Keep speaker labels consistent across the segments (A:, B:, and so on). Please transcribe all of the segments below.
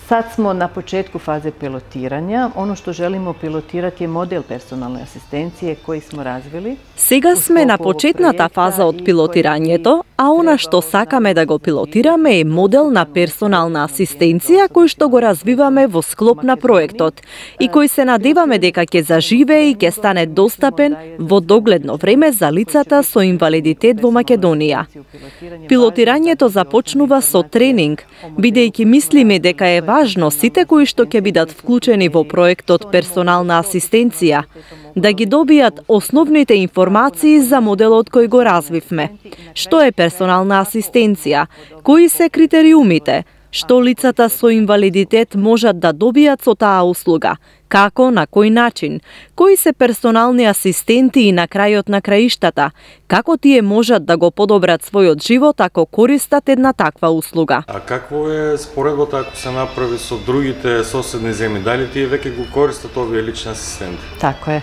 A: Sad smo na početku faze pilotiranja. Ono što želimo pilotirati je model personalne asistencije koji smo razvili.
B: Сега сме на почетната фаза од пилотирањето, а она што сакаме да го пилотираме е модел на персонална асистенција кој што го развиваме во склоп на проектот и кој се надеваме дека ќе заживее и ќе стане достапен во догледно време за лицата со инвалидитет во Македонија. Пилотирањето започнува со тренинг, бидејќи мислиме дека е важно сите кои што ќе бидат вклучени во проектот персонална асистенција да ги добијат основните информации за моделот кој го развивме. Што е персонална асистенција? Кои се критериумите? Што лицата со инвалидитет можат да добијат со таа услуга? Како, на кој начин? Кои се персонални асистенти и на крајот на краиштата? Како тие можат да го подобрат својот живот ако користат една таква услуга?
C: А какво е споредбата ако се направи со другите соседни земји? Дали тие веќе го користат овие лични асистенти?
A: Tako je.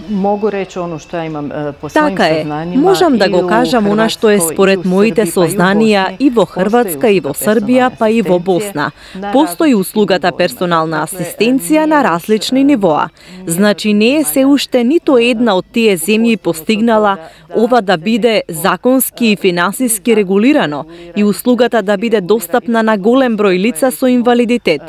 A: Mogu reći ono što ja imam po svojim saznanjima.
B: Можам да го кажам она што е според моите сознанија и во Хрватска, и во Србија, па и во Босна. Постои услугата персонална асистенција на различни нивоа. Значи не е се уште ниту една од тие земји постигнала ова да биде законски и финансиски регулирано и услугата да биде достапна на голем број лица со инвалидитет.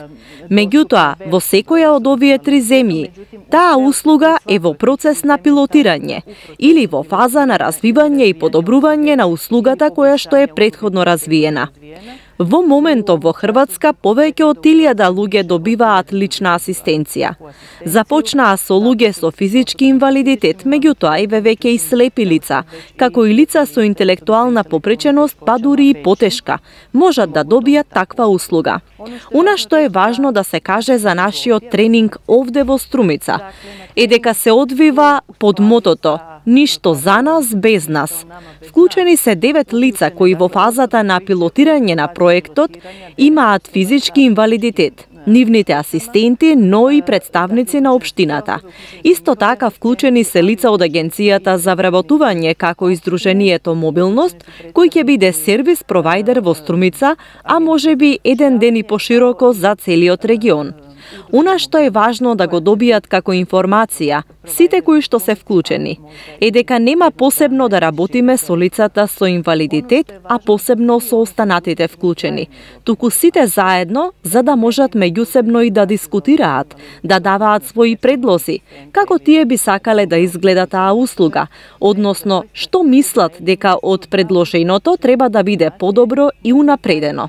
B: Меѓутоа, во секоја од овие три земји, таа услуга е во процес на пилотирање или во фаза на развивање и подобрување на услугата која што е претходно развиена. Во моментов во Хрватска повеќе од 1000 луѓе добиваат лична асистенција. Започнаа со луѓе со физички инвалидитет, меѓутоа веќе и слепи лица, како и лица со интелектуална попреченост, па дури и потешка, можат да добијат таква услуга. Она што е важно да се каже за нашиот тренинг овде во Струмица е дека се одвива под мотото "Ништо за нас без нас". Вклучени се 9 лица кои во фазата на пилотирање на проектот имаат физички инвалидитет, нивните асистенти, но и представници на општината. Исто така вклучени се лица од Агенцијата за вработување како и Сдруженијето Мобилност, кој ќе биде сервис провајдер во Струмица, а можеби еден ден и пошироко за целиот регион. Она што е важно да го добијат како информација сите кои што се вклучени е дека нема посебно да работиме со лицата со инвалидитет, а посебно со останатите вклучени, туку сите заедно за да можат меѓусебно и да дискутираат, да даваат своји предлози, како тие би сакале да изгледа таа услуга, односно што мислат дека од предложеното треба да биде подобро и унапредено.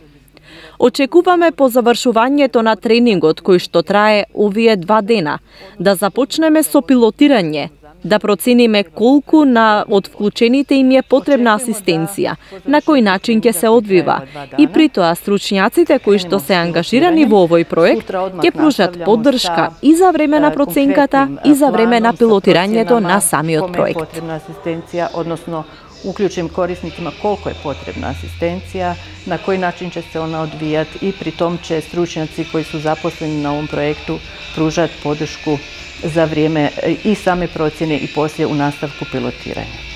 B: Очекуваме по завршувањето на тренингот кој што трае овие 2 дена, да започнеме со пилотирање, да процениме колку од вклучените им е потребна асистенција, на кој начин ќе се одвива и при тоа стручњаците кои што се ангажирани во овој проект ќе пружат поддршка и за време на проценката и за време на пилотирањето на самиот проект.
A: Односно uključim korisnicima koliko je potrebna asistencija, na koji način će se ona odvijati i pri tom će stručnjaci koji su zaposleni na ovom projektu pružati podršku za vrijeme i same procjene i poslije u nastavku pilotiranja.